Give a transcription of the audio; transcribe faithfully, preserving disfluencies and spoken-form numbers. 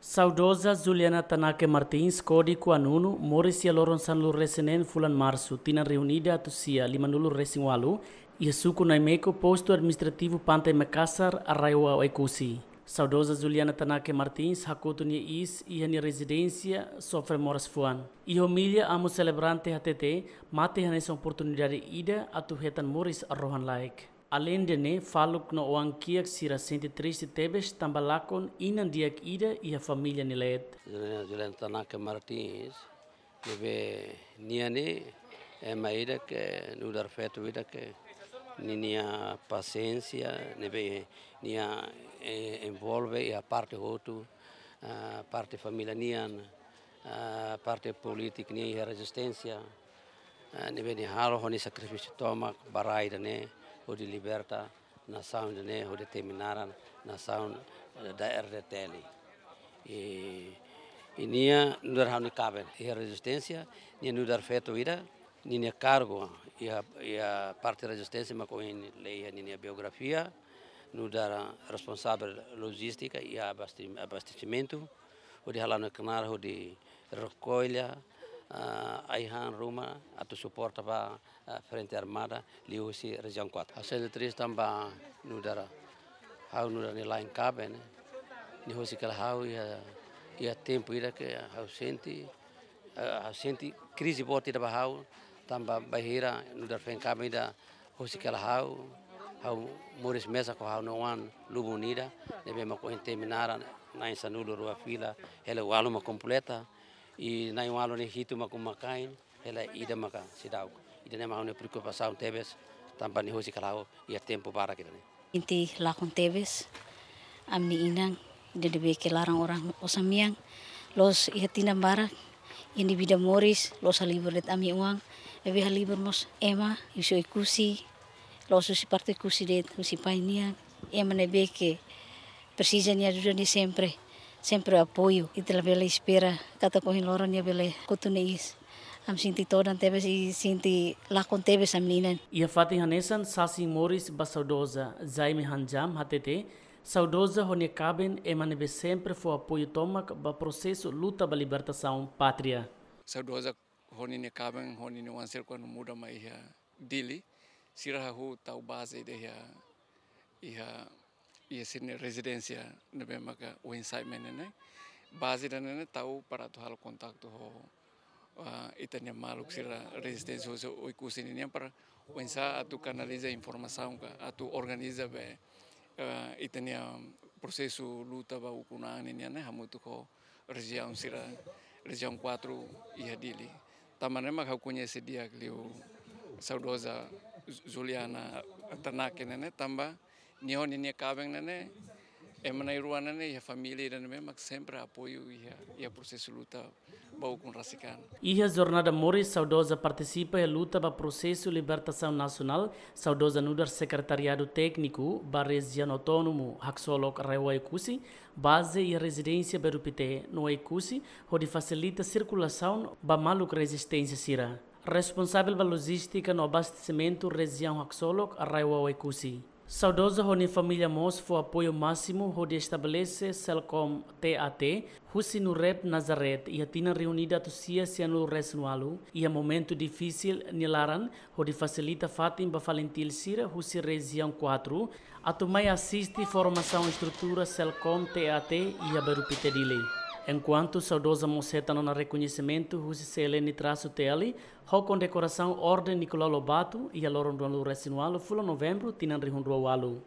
Saudoza Juliana Tanake Martins, kódigu anunu, moris iha loron sanulu-resin-neen fulan Marsu, tinan rihun ida atus sia limanulu-resin-ualu, iha suku Naimeko, postu administrativu Pantai Makassar, RAEOA Oekusi. Saudoza Juliana Tanake Martins hakotu nia iis iha nia rezidénsia Sofre Moras Fuan. Iha omilia, amu selebrante hatete, mate hanesan oportunidade ida atu hetan moris rohan-laek. Aleinde ne'e, faluk no oan-kiak sira sente triste tebes tanba lakon inan di'ak ida iha família nia leet. Juliana, Juliana Tanake Martins, ne'ebé nia ne'e ema ida ke nu'udar feto ida ke ninia pasiénsia, ne'ebé nia, eh, envolve iha parte hotu, ah, parte família nian, ah, parte polítika nian iha rezisténsia, ah, ne'ebé nia halo ho nia sakrifísiu tomak ba rai ida-ne'e, hodi liberta nasaun ida-ne'e, hodi temi naran nasaun, eh, da RDTL. I, i nia nu'udar ha'u-nia kaben iha rezisténsia, nia nu'udar feto ida, ninia kargu iha, iha parte rezisténsia mak ohin lee iha ninia biografia, nu'udar responsavel lojístika iha abasti-, abastesimentu, hodi hala'o nia knaar hodi rekolla, ah, ai-han ruma atu suporta ba, ah, Frente Armada liuhusi Rejiaun kuatru. Ha'u sente triste tanba nu'udar, ha'u nu'udar nia la'en kaben, nia husik hela ha'u iha, iha tempu ida ke ha'u sente, eh, ha'u sente krize boot ida ba ha'u, tanba bainhira nu'udar feen kaben ida husik hela ha'u, ha'u moris mesak ho ha'u-nia oan lubun ida, ne'ebé mak ohin temi naran na'in sanulu-rua fila, hela ualu mak kompleta, i na'in ualu ne'e hitu mak uma-kain, hela ida maka seidauk. Ida-ne'e mak ha'u-nia preokupasaun tebes, tanba nia husik hela ha'u iha tempu barak ida-ne'e. Sente lakon tebes, ami-nia inan, ida ne'ebé ke laran oran osan-mean, loos iha tinan barak, iha nia vida moris, loos halibur de'it ami-oan, ne'ebé halibur mós ema, husi Oekusi, loos husi parte Oekusi de'it, husi pai nian, ema ne'ebé ke presiza nia ajuda, nia sempre, sempre apoiu. Ita labele espera katak ohin loron nia bele hakotu nia iis. Ami sente todan tebes i sente lakon tebes ami-nia inan. Iha fatin hanesan, sasin moris ba saudoza Jaime Hanjam hatete, saudoza ho nia kaben ema ne'ebé sempre fó apoiu tomak ba prosesu luta ba libertasaun pátria. Saudoza ho ninia kaben, ho ninia oan sira kuandu muda mai iha Dili, sira hahú tau baze ida iha, iha, iha sira-nia rezidénsia ne'ebé maka ohin sai mai ne'e. Baze ida-ne'e tau para atu halo kontaktu ho, ah, ita-nia maluk sira rezisténsia husi Oekusi ninian para oinsá atu kanaliza informasaun ka atu organiza be, ah, ita-nia prosesu luta ba ukun-an ninian ne'e hamutuk ho rejiaun sira, Rejiaun kuatru iha Dili. Tanba ne'e mak ha'u koñese di'ak liu saudoza Juliana Tanake ne'e, tanba nia ho ninia kaben ne'e, ema na'in-rua ne'e, iha família ida ne'ebé mak sempre apoiu iha, iha prosesu luta ba ukun rasik an. Iha jornada moris, saudoza partisipa iha luta ba prosesu libertasaun nasionál, saudoza nu'udar sekretariadu tékniku ba Rejiaun Autónomu Haksolok RAEOA Oekusi, baze iha rezidénsia Berupité, no Oekusi, hodi fasilita sirkulasaun ba maluk rezisténsia sira. Responsavel ba lojístika no abastesimentu Rejiaun Haksolok RAEOA Oekusi. Saudoza ho nia família mós fó apoiu másimu hodi estabelese Selcom TAT, husi NUREP Nazareth, iha tinan rihun ida atus sia sianulu-resin-ualu, iha momentu difisil nia laran, hodi fasilita fatin ba FALINTIL sira husi Rejiaun kuatru, atu mai asiste formasaun estrutura Selcom TAT iha Berupité, Dili. Enkuantu saudoza mós hetan ona rekoñesimentu husi CLN-TL, ho kondekorasaun Orden Nicolau Lobato, iha loron ruanulu-resin-ualu fulan Novembru tinan rihun rua ualu.